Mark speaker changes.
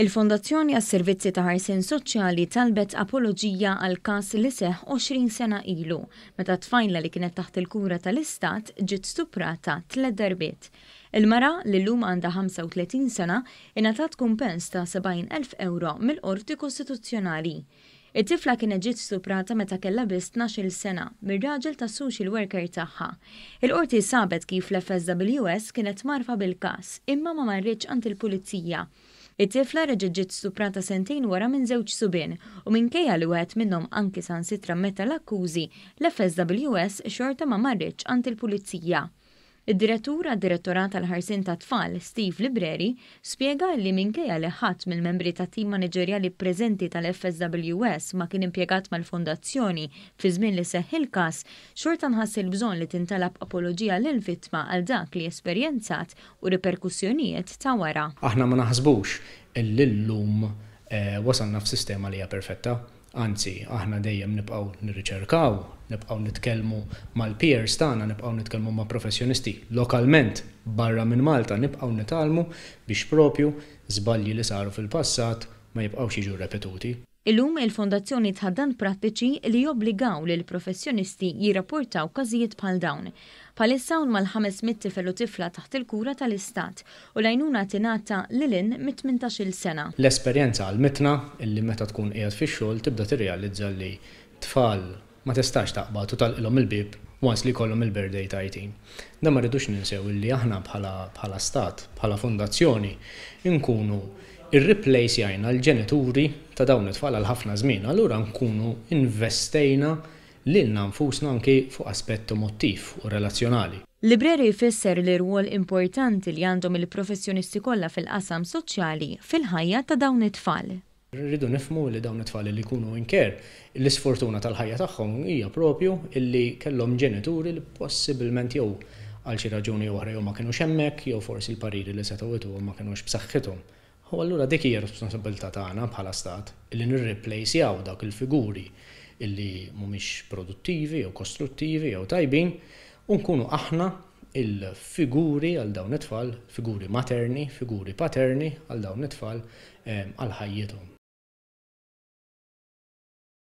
Speaker 1: Il-Fondazzjoni għas-Servizzi ta' Ħarsien Soċjali talbet apoloġija għal każ li seħħ 20 sena ilu, meta tfajla li kienet taħt il-kura tal-Istat ġiet stuprata tliet darbiet. Il-mara, li llum għandha 35 sena, ingħatat kumpens ta' 70,000 ewro mill-Qorti Kostituzzjonali. It-tifla kienet ġiet stuprata meta kellha biss 12-il sena mir-raġel tas-social worker tagħha. Il-Qorti sabet kif l-FSWS kienet mgħarrfa bil-każ, imma ma marritx għand il-Pulizija. It-tifla reġgħet ġiet stuprata sentejn wara minn żewġ subien u minkejja li wieħed minnhom anki saħansitra ammetta l-akkużi, l-FSWS xorta ma marritx għand il-Pulizija. Id-Direttur għad-Direttorat għall-Ħarsien tat-Tfal, Steve Libreri, spjega li minkejja li ħadd mill-membri tat-tim maniġerjali preżenti tal-FSWS ma kien impjegat mal-Fondazzjoni fiż-żmien li seħħ il-każ, xorta nħass il-bżonn li tintalab apoloġija lill-vittma għal dak li esperjenzat u riperkussjonijiet ta' wara.
Speaker 2: Aħna ma naħsbux li llum wasalna f'sistema li hija perfetta. Anzi, aħna dejjem nibqgħu nirriċerkaw, nibqgħu nitkellmu mal-peers tagħna, nibqgħu nitkellmu ma' professjonisti lokalment barra minn Malta, nibqgħu nitgħallmu biex propju żbalji li saru fil-passat ma jibqgħux jiġu rrepetuti.
Speaker 1: Illum il-Fondazzjoni tħaddan prattiċi li jobbligaw lill-professjonisti jirrapportaw każijiet bħal dawn. Bħalissa hawn mal-500 tifel u tifla taħt il-kura tal-Istat u l-għajnuna tingħata lil hinn mit-18-il sena.
Speaker 2: L-esperjenza għallmitna illi meta tkun qiegħed fix-xogħol tibda tirrealizza li tfal ma tistax taqbad u tagħlqilhom il-bieb once li jkollhom il-birthday ta' 18. Dan ma rridux ninsew illi aħna bħala bħala stat, bħala fondazzjoni, nkunu irriplejsjajna l-ġenituri ta' dawn it-tfal għal ħafna żmien, allura nkunu investejna lilna nfusna anki fuq aspett emottiv u relazzjonali.
Speaker 1: Libreri jfisser l-irwol importanti li għandhom il-professjonisti kollha fil-qasam soċjali fil-ħajja ta' dawn it-tfal.
Speaker 2: Rridu nifhmu li dawn it-tfal li jkunu in care, l-isfortuna tal-ħajja tagħhom hija propju illi kellhom ġenituri li possibilment jew għal xi raġuni jew oħra jew ma kinux hemmhekk jew forsi l-pariri li setgħu jtuhom ma kinux b'saħħithom. U allura dik hija responsabilità tagħna bħala stat illi nirreplejsjaw dawk il-figuri illi mhumiex produttivi jew kostruttivi jew tajbin u nkunu aħna il-figuri għal dawn it-tfal, figuri materni, figuri paterni għal dawn it-tfal għal ħajjithom.